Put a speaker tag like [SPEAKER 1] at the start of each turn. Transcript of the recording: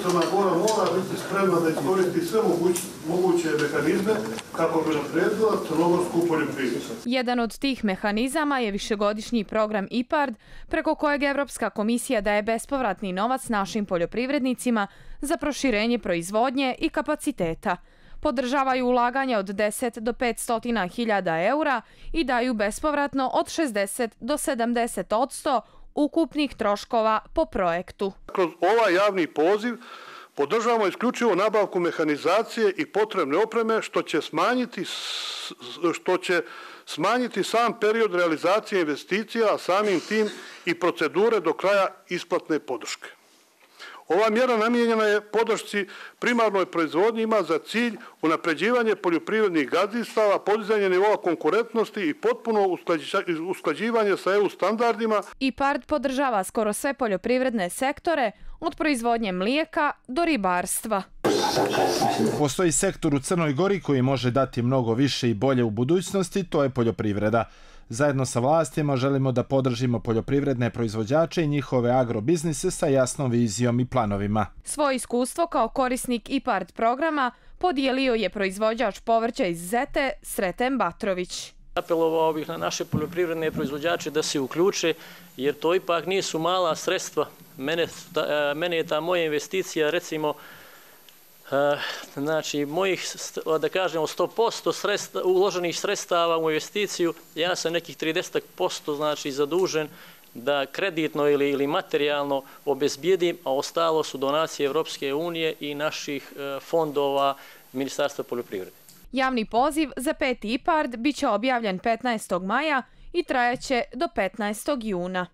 [SPEAKER 1] Crna Gora mora biti spremna da iskoristi sve moguće mehanizme kako bi unaprijedila crnogorsku poljoprivredu.
[SPEAKER 2] Jedan od tih mehanizama je višegodišnji program IPARD, preko kojeg Evropska komisija daje bespovratni novac našim poljoprivrednicima za proširenje proizvodnje i kapaciteta. Podržavaju ulaganja od 10 do 500 hiljada eura i daju bespovratno od 60 do 70% ukupnih troškova po projektu.
[SPEAKER 1] Kroz ovaj javni poziv podržavamo isključivo nabavku mehanizacije i potrebne opreme što će smanjiti sam period realizacije investicija, a samim tim i procedure do kraja isplatne podrške. Ova mjera namijenjena je podršci primarnoj proizvodnji, ima za cilj unapređivanje poljoprivrednih gazdinstava, podizanje nivoa konkurentnosti i potpuno usklađivanje sa EU standardima.
[SPEAKER 2] IPARD podržava skoro sve poljoprivredne sektore, od proizvodnje mlijeka do ribarstva.
[SPEAKER 3] Postoji sektor u Crnoj Gori koji može dati mnogo više i bolje u budućnosti, to je poljoprivreda. Zajedno sa vlastima želimo da podržimo poljoprivredne proizvođače i njihove agrobiznise sa jasnom vizijom i planovima.
[SPEAKER 2] Svoje iskustvo kao korisnik IPARD programa podijelio je proizvođač povrća iz Zete Sreten Batrović.
[SPEAKER 4] Apelovao bih na naše poljoprivredne proizvođače da se uključe, jer to ipak nisu mala sredstva. Mene je ta moja investicija, recimo, znači mojih, da kažemo, 100% uloženih sredstava u investiciju, ja sam nekih 30% znači zadužen da kreditno ili materijalno obezbijedim, a ostalo su donacije Evropske unije i naših fondova Ministarstva poljoprivrede.
[SPEAKER 2] Javni poziv za 5. IPARD biće objavljen 15. maja i trajaće do 15. juna.